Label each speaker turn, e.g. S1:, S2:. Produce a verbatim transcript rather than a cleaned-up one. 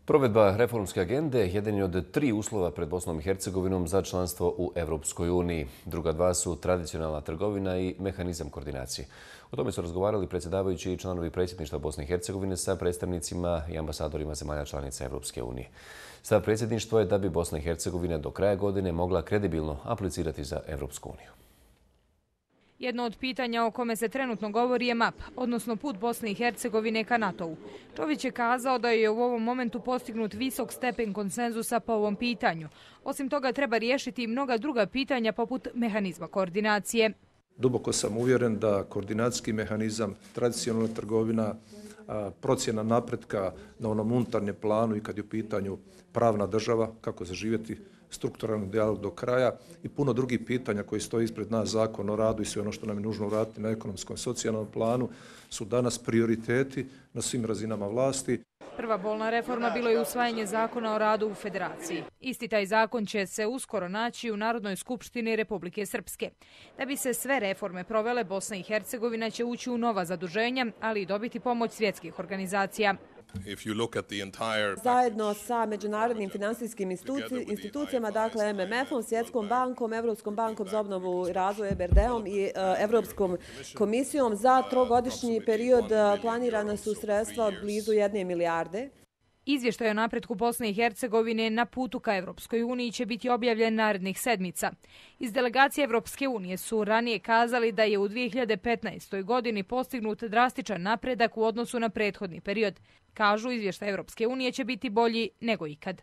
S1: Provedba reformske agende jedan je od tri uslova pred Bosnom i Hercegovinom za članstvo u Evropskoj uniji. Druga dva su tradicionalna trgovina i mehanizam koordinacije. O tome su razgovarali predsjedavajući i članovi predsjedništva Bosne i Hercegovine sa predstavnicima i ambasadorima zemalja članica Evropske unije. Stav predsjedništva je da bi Bosna i Hercegovina do kraja godine mogla kredibilno aplicirati za Evropsku uniju.
S2: Jedno od pitanja o kome se trenutno govori je map, odnosno put Bosne i Hercegovine ka NATO-u. Čović je kazao da je u ovom momentu postignut visok stepen konsenzusa po ovom pitanju. Osim toga treba riješiti i mnoga druga pitanja poput mehanizma koordinacije.
S3: Duboko sam uvjeren da koordinacijski mehanizam, tradicionalna trgovina, procjena napretka na onom unutarnjem planu i kad je u pitanju pravna država, kako zaživjeti strukturalni dijalog do kraja i puno drugih pitanja koji stoji ispred nas, zakon o radu i sve ono što nam je nužno uraditi na ekonomskom i socijalnom planu su danas prioriteti na svim razinama vlasti.
S2: Prva bolna reforma bilo je usvajanje zakona o radu u Federaciji. Isti taj zakon će se uskoro naći u Narodnoj skupštini Republike Srpske. Da bi se sve reforme provele, Bosna i Hercegovina će ući u nova zaduženja, ali i dobiti pomoć svjetskih organizacija.
S4: Zajedno sa međunarodnim finansijskim institucijama, dakle M M F-om, Svjetskom bankom, Evropskom bankom za obnovu i razvoj E B R D-om i Evropskom komisijom, za trogodišnji period planirana su sredstva od blizu jedne milijarde.
S2: Izvještaj o napretku Bosne i Hercegovine na putu ka Evropskoj uniji će biti objavljen narednih sedmica. Iz delegacije Evropske unije su ranije kazali da je u dvije hiljade petnaestoj. godini postignut drastičan napredak u odnosu na prethodni period. Kažu, izvještaj Evropske unije će biti bolji nego ikad.